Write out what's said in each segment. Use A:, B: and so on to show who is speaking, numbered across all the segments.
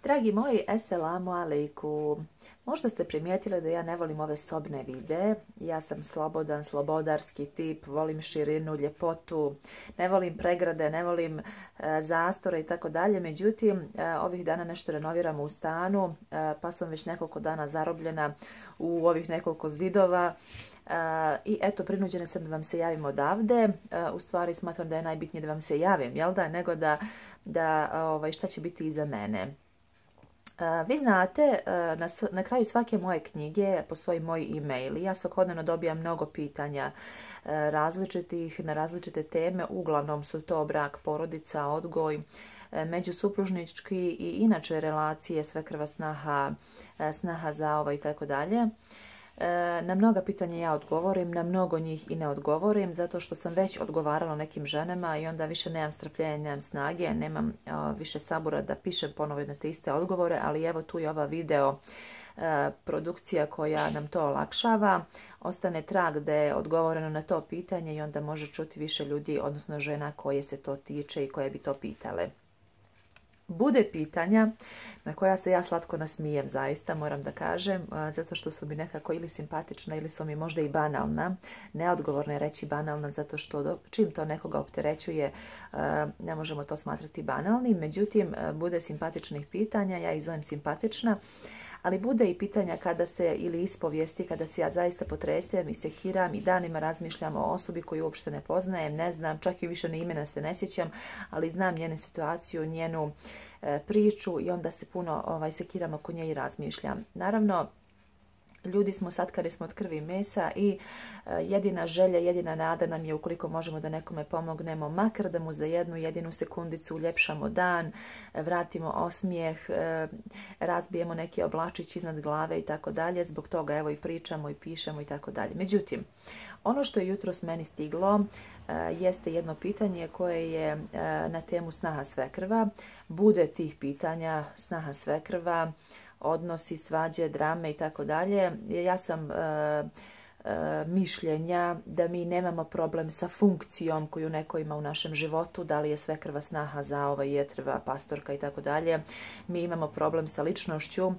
A: Dragi moji, eselamu alaikum. Možda ste primijetili da ja ne volim ove sobne videe. Ja sam slobodan, slobodarski tip, volim širinu, ljepotu, ne volim pregrade, ne volim zastore i tako dalje. Međutim, ovih dana nešto renoviramo u stanu, pa sam već nekoliko dana zarobljena u ovih nekoliko zidova. I eto, prinuđena sam da vam se javim odavde. U stvari smatram da je najbitnije da vam se javim, jel da, nego da šta će biti iza mene. Vi znate, na kraju svake moje knjige postoji moj e-mail i ja svakodnevno dobijam mnogo pitanja različitih, na različite teme. Uglavnom su to brak, porodica, odgoj, međusupružnički i inače relacije, svekrva, snaha, zaova i tako dalje. Na mnoga pitanja ja odgovorim, na mnogo njih i ne odgovorim, zato što sam već odgovarala nekim ženama i onda više nemam strpljenja, nemam snage, nemam više sabura da pišem ponovo na te iste odgovore, ali evo tu je ova video produkcija koja nam to olakšava. Ostane trag da je odgovoreno na to pitanje i onda može čuti više ljudi, odnosno žena koje se to tiče i koje bi to pitale. Bude pitanja na koja se ja slatko nasmijem, zaista moram da kažem, zato što su mi nekako ili simpatična ili su mi možda i banalna. Neodgovorno je reći banalna, zato što čim to nekoga opterećuje ne možemo to smatrati banalnim. Međutim, bude simpatičnih pitanja, ja ih zovem simpatična, ali bude i pitanja kada se, ili ispovijesti, kada se ja zaista potresem i sekiram i danima razmišljam o osobi koju uopšte ne poznajem, ne znam, čak i više ni imena se ne sjećam, ali znam njenu situaciju, njenu priču i onda se puno sekiram oko nje i razmišljam. Naravno, ljudi smo sad kada smo od krvi i mesa i jedina želja, jedina nada nam je ukoliko možemo da nekome pomognemo, makar da mu za jednu jedinu sekundicu uljepšamo dan, vratimo osmijeh, razbijemo neki oblačić iznad glave i tako dalje. Zbog toga evo i pričamo i pišemo i tako dalje. Međutim, ono što je jutros meni stiglo jeste jedno pitanje koje je na temu snaha svekrva. Bude tih pitanja snaha svekrva, odnosi, svađe, drame i tako dalje. Ja sam mišljenja da mi nemamo problem sa funkcijom koju neko ima u našem životu, da li je svekrva, snaha, zaova, jetrva, pastorka i tako dalje. Mi imamo problem sa ličnošću,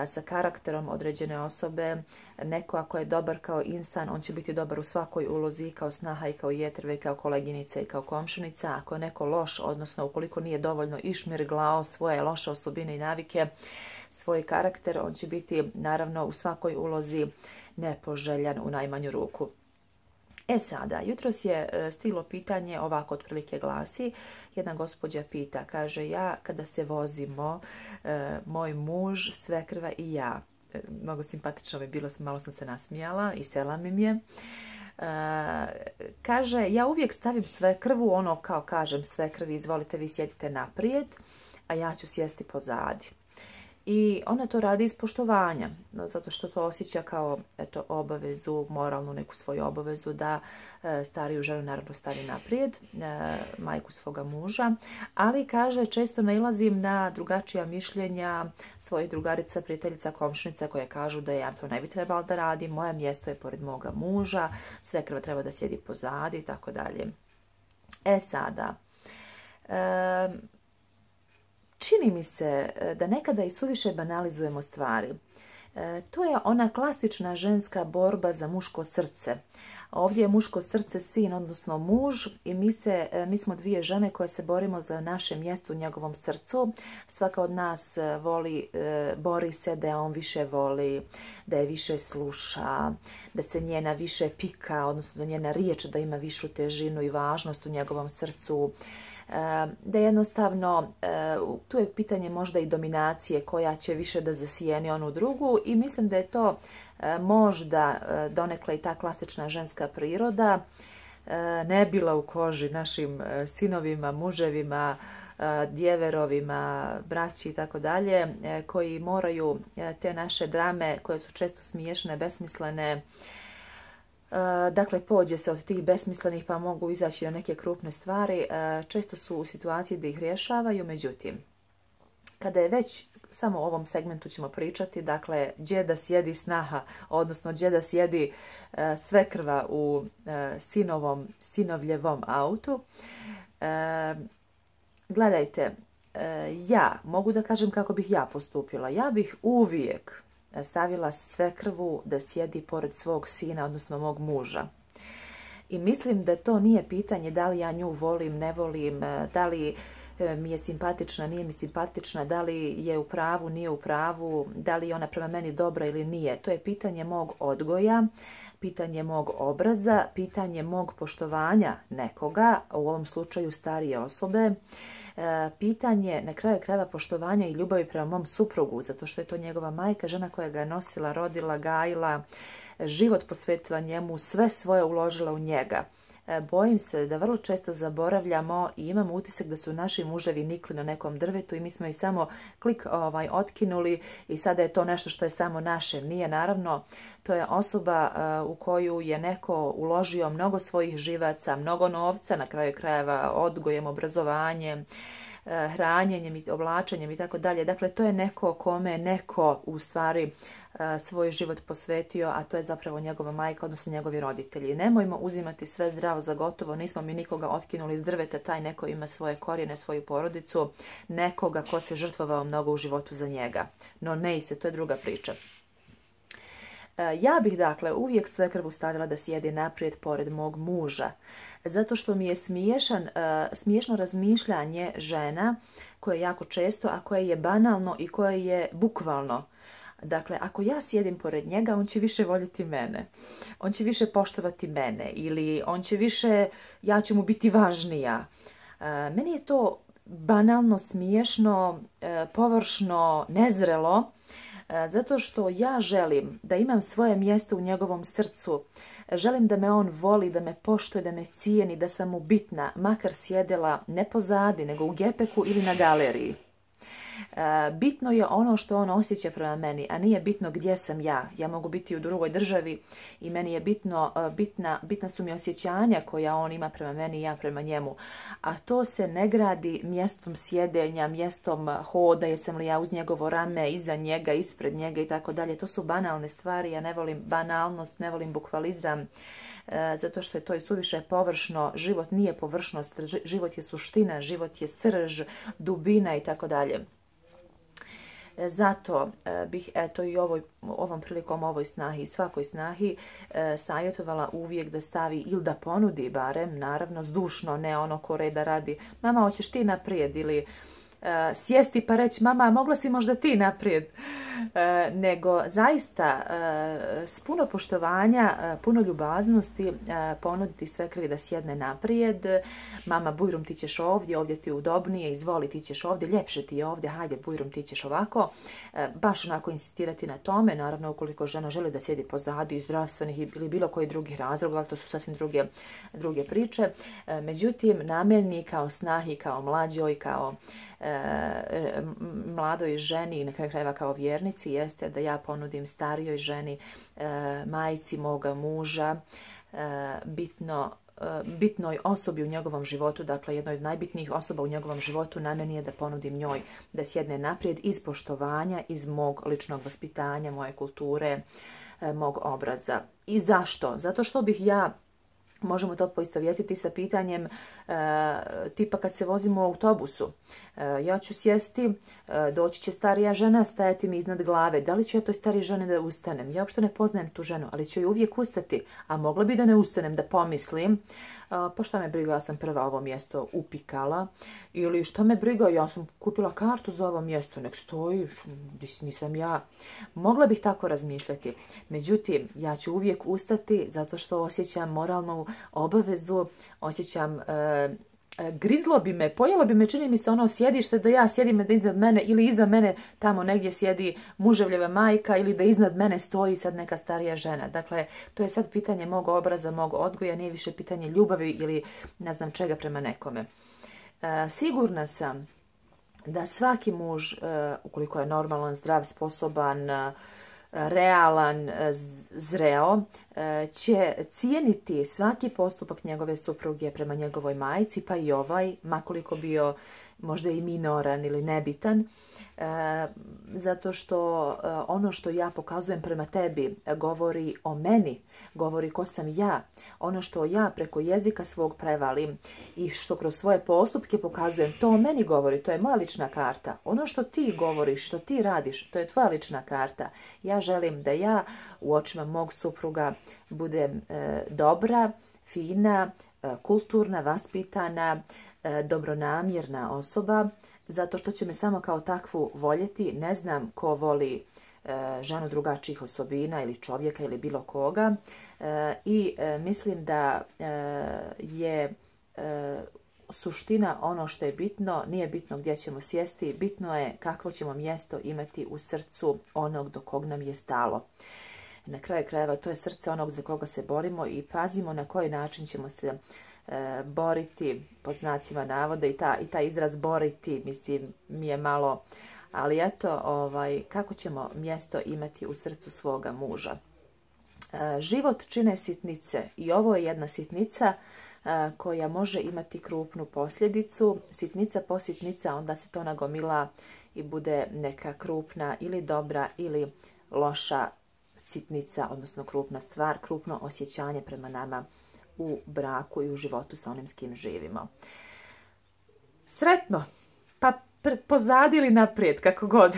A: sa karakterom određene osobe. Neko ako je dobar kao insan, on će biti dobar u svakoj ulozi, kao snaha i kao jetrva i kao koleginica i kao komšinica. Ako je neko loš, odnosno ukoliko nije dovoljno išmirglao svoje loše osobine i navike, svoj karakter, on će biti naravno u svakoj ulozi nepoželjan u najmanju ruku. E sada, jutros je stiglo pitanje, ovako otprilike glasi, jedna gospođa pita, kaže, ja kada se vozimo, moj muž, svekrva i ja, mnogo simpatično mi je bilo, malo sam se nasmijala i selam im je. Kaže, ja uvijek stavim svekrvu, ono kao kažem svekrvi, izvolite vi sjedite naprijed, a ja ću sjesti pozadi. I ona to radi iz poštovanja, zato što to osjeća kao obavezu, moralnu neku svoju obavezu da stariju ženu naravno stavi naprijed, majku svoga muža, ali kaže često nailazim na drugačija mišljenja svojih drugarica, prijateljica, komšinica koje kažu da ja to ne bi trebala da radim, moje mjesto je pored moga muža, svekrva treba da sjedi pozadi i tako dalje. E sada, čini mi se da nekada i suviše banalizujemo stvari. To je ona klasična ženska borba za muško srce. Ovdje je muško srce sin, odnosno muž, i mi smo dvije žene koje se borimo za naše mjesto u njegovom srcu. Svaka od nas bori se da je on više voli, da je više sluša, da se njena više pika, odnosno da njena riječ da ima višu težinu i važnost u njegovom srcu. Da jednostavno, tu je pitanje možda i dominacije koja će više da zasijeni onu drugu i mislim da je to možda donekle i ta klasična ženska priroda, ne bila u koži našim sinovima, muževima, djeverovima, braći i tako dalje, koji moraju te naše drame koje su često smiješne, besmislene, dakle, pođe se od tih besmislenih pa mogu izaći na neke krupne stvari, često su u situaciji da ih rješavaju, međutim, kada je već, samo o ovom segmentu ćemo pričati, dakle, gdje da sjedi snaha, odnosno gdje da sjedi svekrva u sinovljevom autu. Gledajte, ja mogu da kažem kako bih ja postupila. Ja bih uvijek stavila svekrvu da sjedi pored svog sina, odnosno mog muža. I mislim da to nije pitanje da li ja nju volim, ne volim, da li mi je simpatična, nije mi simpatična, da li je u pravu, nije u pravu, da li je ona prema meni dobra ili nije. To je pitanje mog odgoja, pitanje mog obraza, pitanje mog poštovanja nekoga, u ovom slučaju starije osobe, pitanje na kraju krajeva poštovanja i ljubavi prema mom suprugu, zato što je to njegova majka, žena koja ga je nosila, rodila, gajila, život posvetila njemu, sve svoje uložila u njega. Bojim se da vrlo često zaboravljamo i imamo utisak da su naši muževi nikli na nekom drvetu i mi smo ih samo klik otkinuli i sada je to nešto što je samo naše. Nije, naravno, to je osoba u koju je neko uložio mnogo svojih živaca, mnogo novca, na kraju krajeva odgojem, obrazovanjem, hranjenjem i oblačenjem i tako dalje. Dakle, to je neko kome neko u stvari svoj život posvetio, a to je zapravo njegova majka, odnosno njegovi roditelji. Nemojmo uzimati sve zdravo za gotovo, nismo mi nikoga otkinuli iz drveta, taj neko ima svoje korijene, svoju porodicu, nekoga ko se žrtvovao mnogo u životu za njega. No ne se, to je druga priča. Ja bih, dakle, uvijek svekrvu stavila da sjedi naprijed pored mog muža, zato što mi je smiješno razmišljanje žena koje jako često, a koje je banalno i koje je bukvalno. Dakle, ako ja sjedim pored njega, on će više voljeti mene. On će više poštovati mene ili on će više, ja ću mu biti važnija. Meni je to banalno, smiješno, površno, nezrelo, zato što ja želim da imam svoje mjesto u njegovom srcu. Želim da me on voli, da me poštuje, da me cijeni, da sam mu bitna, makar sjedela ne pozadi, nego u gepeku ili na galeriji. Bitno je ono što on osjeća prema meni, a nije bitno gdje sam ja. Ja mogu biti u drugoj državi i meni je bitna su mi osjećanja koja on ima prema meni i ja prema njemu. A to se ne gradi mjestom sjedenja, mjestom hoda, jesam li ja uz njegovo rame, iza njega, ispred njega i tako dalje. To su banalne stvari, ja ne volim banalnost, ne volim bukvalizam, zato što je to i suviše površno. Život nije površnost, život je suština, život je srž, dubina i tako dalje. Zato bih eto i ovom prilikom ovoj snahi i svakoj snahi savjetovala uvijek da stavi ili da ponudi barem, naravno zdušno, ne ono ko reda radi, mama hoćeš ti naprijed, ili sjesti pa reći mama mogla si možda ti naprijed, nego zaista s puno poštovanja, puno ljubaznosti ponuditi svekrvi da sjedne naprijed. Mama, bujrum ti ćeš ovdje, ovdje ti je udobnije, izvoli ti ćeš ovdje, ljepše ti je ovdje, hajde bujrum ti ćeš ovako. Baš onako insistirati na tome, naravno ukoliko žena želi da sjedi pozadi iz zdravstvenih ili bilo koji drugih razloga, ali to su sasvim druge priče. Međutim, namjerni kao snahi, kao mlađoj, kao mladoj ženi i na kraju krajeva kao vjernici jeste da ja ponudim starijoj ženi, majci moga muža, bitnoj osobi u njegovom životu, dakle jednoj od najbitnijih osoba u njegovom životu, na meni je da ponudim njoj da sjedne naprijed iz poštovanja, iz mog ličnog vaspitanja, moje kulture, mog obraza. I zašto? Zato što bih ja, možemo to poistovjetiti sa pitanjem tipa kad se vozimo u autobusu. Ja ću sjesti, doći će starija žena, stajati mi iznad glave. Da li ću ja toj stariji ženi da ustanem? Ja uopšte ne poznajem tu ženu, ali ću joj uvijek ustati. A mogla bi da ne ustanem, da pomislim, pa šta me briga, ja sam prva ovo mjesto upikala. Ili šta me briga, ja sam kupila kartu za ovo mjesto, nek stoji, nisam ja. Mogla bih tako razmišljati. Međutim, ja ću uvijek ustati zato što osjećam moralnu obavezu, osjećam grizlo bi me, pojelo bi me, čini mi se ono sjedište da ja sjedim da iznad mene ili iza mene tamo negdje sjedi muževljeva majka ili da iznad mene stoji sad neka starija žena. Dakle, to je sad pitanje mog obraza, mog odgoja, nije više pitanje ljubavi ili ne znam čega prema nekome. Sigurna sam da svaki muž, ukoliko je normalan, zdrav, sposoban, realan, zreo, će cijeniti svaki postupak njegove supruge prema njegovoj majci, pa i ovaj, makoliko bio možda i minoran ili nebitan, zato što ono što ja pokazujem prema tebi govori o meni, govori ko sam ja. Ono što ja preko jezika svog prevalim i što kroz svoje postupke pokazujem, to o meni govori, to je moja lična karta. Ono što ti govoriš, što ti radiš, to je tvoja lična karta. Ja želim da ja u očima mog supruga budem dobra, fina, kulturna, vaspitana, dobronamjerna osoba, zato što će me samo kao takvu voljeti. Ne znam ko voli ženu drugačijih osobina ili čovjeka ili bilo koga, i mislim da je suština ono što je bitno. Nije bitno gdje ćemo sjesti, bitno je kakvo ćemo mjesto imati u srcu onog do kog nam je stalo. Na kraju krajeva to je srce onog za koga se borimo i pazimo na koji način ćemo se boriti, pod znacima navoda, i taj izraz boriti, mislim, mi je malo, ali eto, kako ćemo mjesto imati u srcu svoga muža. Život čine sitnice i ovo je jedna sitnica koja može imati krupnu posljedicu. Sitnica po sitnica, onda se to nagomila i bude neka krupna ili dobra ili loša sitnica, odnosno krupna stvar, krupno osjećanje prema nama u braku i u životu sa onim s kim živimo. Sretno! Pa pozadi ili naprijed, kako god.